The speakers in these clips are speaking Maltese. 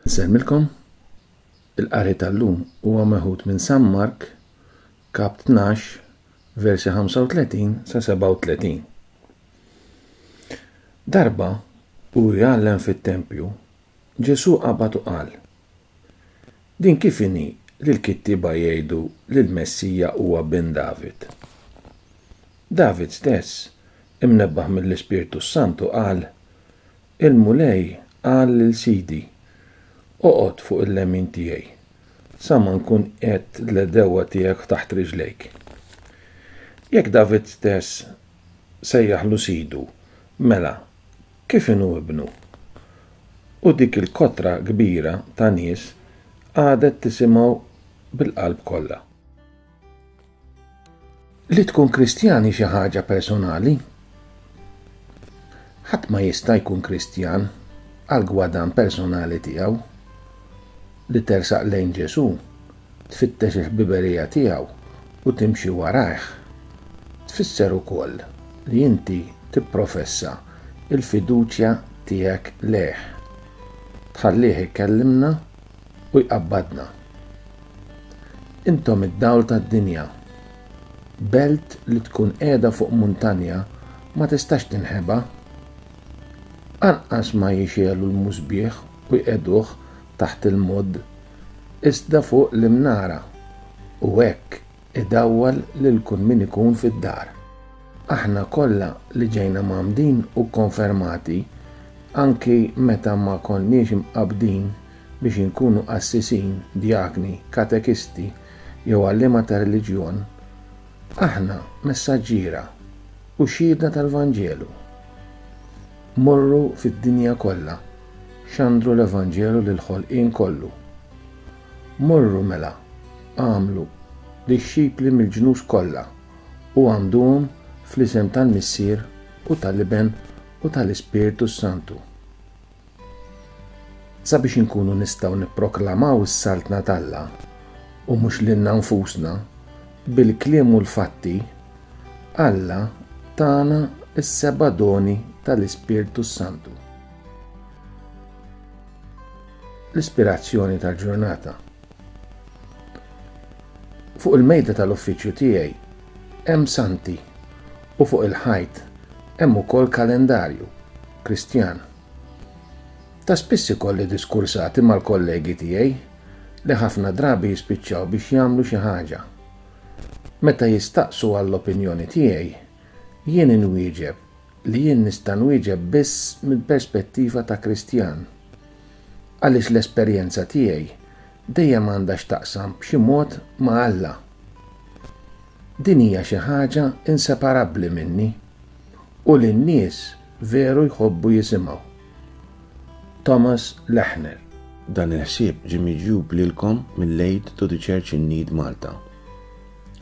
Nsellmilkom. Il-qari tal-lum huwa meħud minn San Mark, kap 12, versi 35 sa 37. Darba, u jgħallem fit-tempju, Ġesù qabad u qal, Din kif inhi li l-kittieba jgħidu li l-Messija huwa bin David? David stess, imnebbaħ mill-Ispirtu s-Santu, qal, Il-Mulej qal lil Sidi, Oqgħod fuq il-lemin tiegħi, sa ma nkun qiegħedt l-għedewwa tiegħek taħt riġlejk. Jekk David stess sejjaħlu Sidu, mela kif inhu ibnu? U dik il-kotra kbira ta' nies qagħdet tisimgħu bil-qalb kollha. Li tkun Kristjan hi xi ħaġa personali. Ħadd ma jista' jkun Kristjan għall-gwadann personali tiegħu. Li tersaq lejn Ġesù, tfittex il-ħbiberija tiegħu u timxi warajh, tfisser ukoll li inti tipprofessa l-fiduċja tiegħek lejh, tħallih ikellimna u jqabbadna. Intom id-dawl tad-dinja. Belt li tkun qiegħda fuq muntanja ma tistax tinħeba. Anqas ma jixegħlu l-musbieħ u jqegħduh taħt il-modd, iżda fuq l-imnara, u hekk idawwal lil kull min ikun fid-dar. Aħna kollha li ġejna mgħammdin u kkonfermati, anki meta ma konniex imqabbdin biex inkunu qassisin, djakni, katekisti jew għalliema ta' reliġjon, aħna messaġġiera u xhieda tal-Vanġelu. Morru fid-dinja kollha, xandru l-Evanġelu lill-ħolqien kollu. Morru mela, agħmlu dixxipli mill-ġnus kollha u għammduhom fl-isem tal-Missier u tal-Iben u tal-Ispirtu s-Santu. Sabiex inkunu nistgħu nipproklamaw is-Saltna t'Alla, u mhux lilna nfusna, bil-kliem u l-fatti, Alla tana s-seba' doni tal-Ispirtu s-Santu. L-ispirazzjoni tal-ġurnata. Fuq il-mejda tal-uffiċċju tiegħi hemm santi u fuq il-ħajt hemm ukoll kalendarju Kristjan. Ta' spiss ikolli diskursati mal-kollegi tiegħi li ħafna drabi jispiċċaw biex jagħmlu xi ħaġa. Meta jistaqsu għall-opinjoni tiegħi, jien inwieġeb li jien nista' nwieġeb biss mill-perspettiva ta' Kristjan. Għaliex l-esperjenza tiegħi dejjem għandha x'taqsam b'xi mod ma' Alla. Din hija xi ħaġa inseparabbli minni u li n-nies veru jħobbu jisimgħu. Thomas Lechner. Dan il-ħsieb ġie miġjub lilkom mill-Aid to the Church in Need Malta.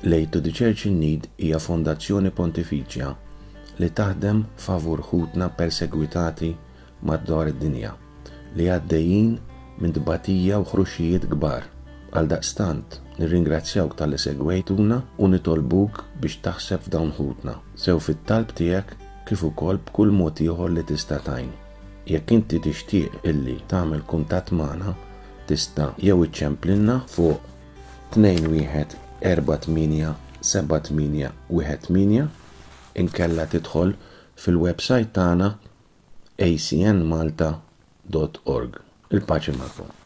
L-Aid to the Church in Need hija fondazzjoni pontifiċja li taħdem favur ħutna persegwitati madwar id-dinja li għaddejjin minn tbatija u ħruxijiet kbar. Għaldaqstant, nirringrazzjawk talli segwejtuna u nitolbuk biex taħseb f'dawn ħutna, sew fit-talb tiegħek kif ukoll b'kull mod ieħor li tista' tgħin. Jekk inti tixtieq illi tagħmel kuntatt magħna, tista' jew iċċemplilna fuq 21 48 78 18 inkella tidħol fil-websajt tagħna acnmalta.org. Il-paċi magħkom.